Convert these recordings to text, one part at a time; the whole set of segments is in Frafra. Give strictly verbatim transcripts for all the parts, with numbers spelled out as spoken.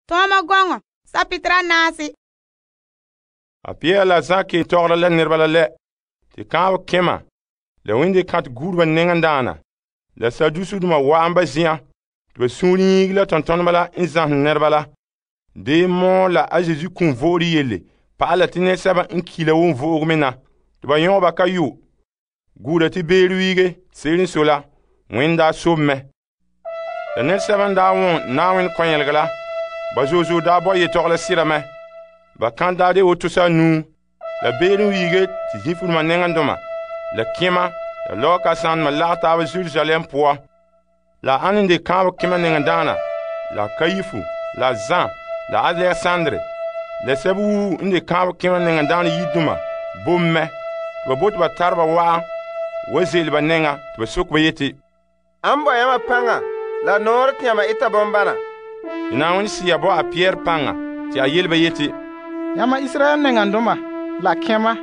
Tɔɔma gɔŋɔ sapetera naase. A Pierre la Zan ke tɔgɔra la nɛreba la lɛ. Te kaanbɛ kema la wende kantɛ guureba nɛŋadaana la Sadusudoma wa'an ba zen'an te ba suunre yiigi la tontoneba la n zamehɛ nɛreba la. De mɔɔ la a Yesu kum vo'ore yelle pa'ala te nɛresɛba n ki la wonvo'ogo me na. Te ba yɔŋɛ ba kayo guura te beere wiige. Se'ere n sɔe la, Wẽnne daa sobe mɛ. La nɛresɛba n daa wɔn Na'ayenɛ kɔnyelegɔ la, ba zo'e zo'e daa bɔ yetɔgɔ la sera mɛ. Ba kan daa de woto sanuu. La beere wiige te zĩfuruma nɛŋandoma la kema la lɔɔ kasanedoma lagɛ taaba Jerusalem poan. La ane n de kaanbɛ kema nɛŋadaana la Kaifu la Zan la Alexandre la sɛba woo n de kaanbɛ kema nɛŋadaana yidoma bom mɛ. Te ba bote ba tare ba wa'an wa ze'ele ba nɛŋa te ba soke ba yeti, An bo yamma paŋa la nɔɔrɛ te yamma eta bombana. Te Na'ayenɛ Sea bo a Pierre paŋa te a yele ba yeti, Yamma Israel nɛŋandoma la kema,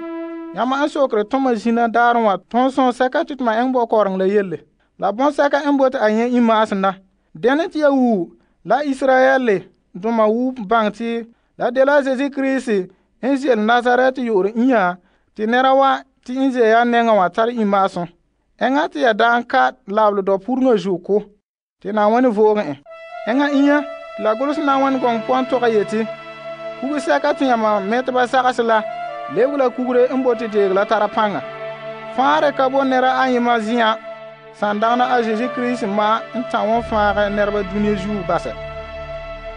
yamma an sokere toma zina daarẽ wa tõog sõsɛka te tuma eŋɛ bɔkɔɔreŋ la yelle. La bõnsɛka n bote a nyɛ imaasem na. Dɛna te ya wuu la Israel doma wuu baŋɛ te la dela Zeezi Kirisi n ze'ele Nazaret yo'ore inya te nɛra wa te n ze ya nɛŋa wa tare imaasem. Eŋa te ya daan ka labele dɔpureŋa zuo ko te Na'ayenɛ vo'oge en. Eŋa inya la golose Na'ayenɛ gɔŋɔ puan tɔgɛ yeti, kugsɛka te yamma mɛteba sagase la lebege la kugre n bote deege la tara paŋa. Faare ka bo nɛra ayema zen'an sandagena a Zeezi Kirisi ma n ta'an wɔn faagɛ nɛreba dunia zuo basɛ.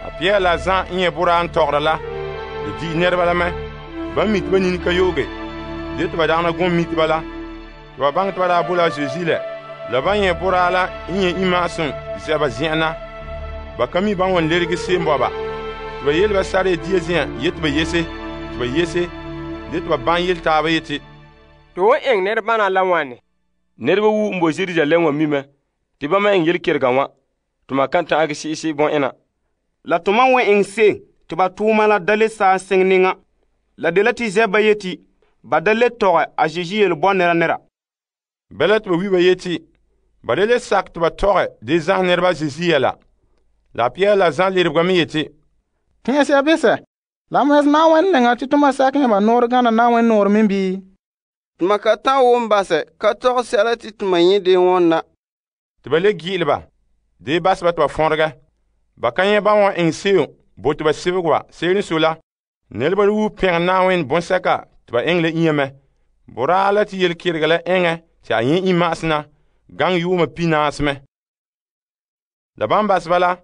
A Pierre la Zan n nyɛ boraa n tɔgɔra la, le di'i nɛreba la mɛ. Ba mi te ba nini ka yooge. De te ba dagena gom miti ba la. Te ba baŋɛ te ba daa bo la Zeezi lɛ. La ba nyɛ boraa la n nyɛ imaasem zɛba zen'an na. Ba ka mi ban wan lerege se'em bɔba. Te ba yele ba sare dia zen'an yeti ba yese. Te ba yese. De te ba ban yele taaba yeti, To won eŋ nɛrebana la wane? Nɛreba woo n bo Jerusalem wa mi mɛ te ba ma eŋ yelekerega wã. Tuma kan ta'an ake si'isi bõ'ena. La tuma wan eŋ se'em te ba tuuma la da le saa seŋ neŋa. La dela te zɛ ba yeti ba da le tɔgɛ a Zeezi yele bɔ nɛra nɛra. Bɛla te ba wi ba yeti, ba de le sak te ba tɔgɛ de zãh nɛreba Zeezi yɛla. La Pierre la Zan lerebega me yeti, Tẽese ya besɛ, la mɛs Na'ayenɛ nɛŋa te toma sakẽ yãmba noor gana Na'ayenɛ noor me bii? Tuma ka ta'an wom basɛ ka tɔgɛ sɛla te tuma nyɛ de wɔn na. te ba le gi'ile ba. De basɛ ba te ba fõregɛ. Ba ka nyɛ ba wan eŋ se'em bo te ba sebege wa. Se'ere n sɔe la, nɛreba woo pɛgɛ Na'ayenɛ bõnsɛka te ba eŋɛ la inya mɛ. Boraa la te yelekerega la eŋɛ te a nyɛ imaasem na gaŋɛ yuuma pinaase mɛ. La ban basɛ ba la,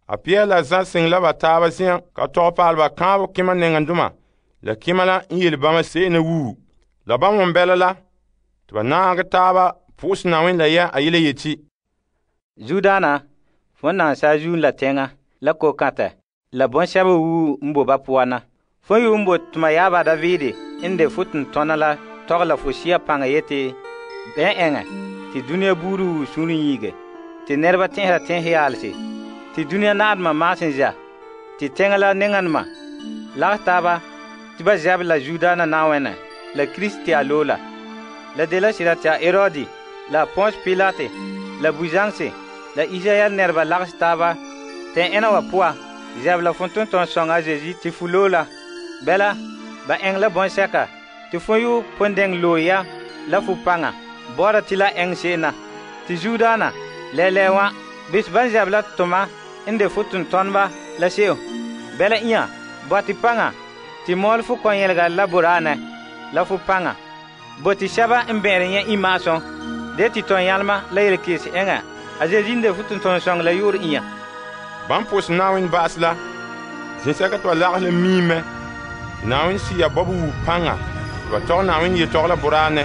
a Pierre la Zan seŋ la ba taaba zen'an ka tɔgɛ paale ba kaanbɛ kema nɛŋandoma la kema la n yele bama se'em na wuu. La ban wɔn bɛla la, te ba naagɛ taaba pʋgɛsɛ Na'ayenɛ la yɛ a yele yeti, Zudaana, fon nan saazuun la tɛŋa la ko-kãtɛ la bõn-sɛba woo n bo ba poan na. Fo yu n bo tuma yaaba Davide n de fo tentɔna la tɔgɛ la fo sia paŋa yeti bɛn ɛŋɛ te dunia buuri woo sũuri yiige, te nɛreba tẽsera tẽs yaalse, te dunia na'adema maasem za, te tɛŋa la neŋanema lagɛ taaba te ba zɛb la Zudaana Na'ayenɛ la Kristi a loo la. La de la sira te a Herodi la Ponce Pilate la buzaŋse la Israel nɛreba lagse taaba tẽn ɛna wa poa zɛb la fo tʋntɔn-sõŋa a Zeezi te fu loo la. Bɛla, ba ɛŋ la bõn-sɛka te fo yu pʋn dɛŋ loe ya la fo paŋa bɔ'ɔra te la ɛŋ se'em na. Te Zudaana lɛɛlɛɛ wã bis ban zɛb la tʋma n de fo tʋntɔneba la se'em. Bɛla ĩa bɔte paŋa te mɔɔl fo kɔn-yɛlega la boraanɛ la fo paŋa. Bo te sɛba n bẽere nyɛ imaasem de te tõn yãlema la yelekeese ɛŋa a Zeezi n de fo tʋntɔn-sõŋ la yoore ĩa. ban pʋʋsɛ Na'ayenɛ ba'asɛ la, zĩsɛka te ba lagɛ la miimɛ. Te Na'ayenɛ Sea bɔbɔ wuu paŋa te ba tɔgɛ Na'ayenɛ yetɔgɔ la boraanɛ.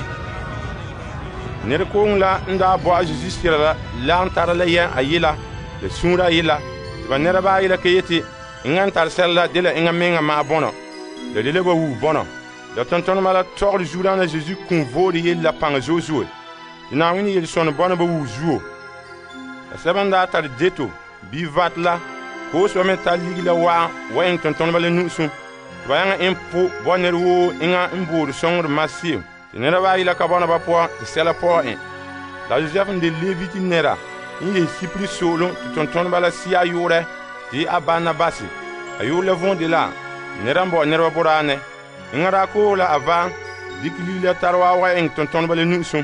Nɛrekooŋɔ la n daa bɔ a Zeezi sera la lagem tara la yɛn a yela la sũura a yela te ba nɛreba ayi la ka yeti eŋa n tare sɛla la de la eŋa meŋa ma'a bɔnɔ. La de la ba wuu bɔnɔ. La tontonema la tɔgere Zudaana Zeezi kum voore yele la paŋa zo'e zo'e. Te Na'ayenɛ yel-sõne bɔna ba wuu zuo. La sɛba n daa tare deto bii vat la, kooseba me tare ligi la wa'an wa eŋ tontoneba la nu'usum. Te ba yaŋa eŋ po bɔ nɛr woo eŋa n boore sõŋore maseem. Te nɛreba ayi la ka bɔna ba poan te sɛla pɔgɔ e. La Josɛf n de Leviti nɛra n yɛ Sipri soolem te tontoneba la sia yoorɛ te a Barnabase. A yu'urɛ la vom de la nɛra n bo nɛreba boraanɛ. Enŋa daa koohe la a va dikɛ ligiri la tare waawɛ eŋɛ tontoneba la nu'usum.